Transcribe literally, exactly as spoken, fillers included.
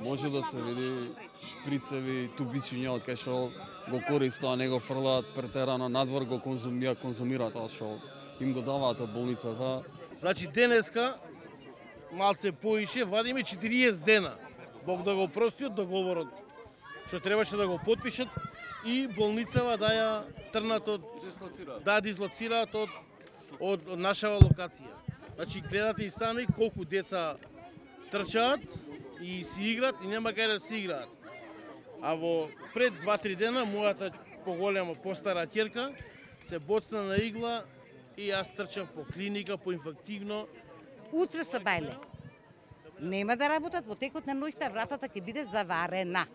Може да се види шприцеви, тубичиња од кај што го користат, не го фрлаат претерано надвор, го конзумија, конзумираат тоа што им го даваат од болницата. Значи денеска малце поише вадиме четириесет дена. Бог да го прости од договорот што требаше да го потпишат и болницава да ја трнат од да дислоцираат од од, од нашава локација. Значи гледате и сами колку деца трчаат и си играат и нема кај да си играат. А во пред два-три дена мојата поголема, постара ќерка се боцна на игла и јас трчав по клиника, по инфективно. Утре са бајле. Нема да работат, во текот на ноќта вратата ќе биде заварена.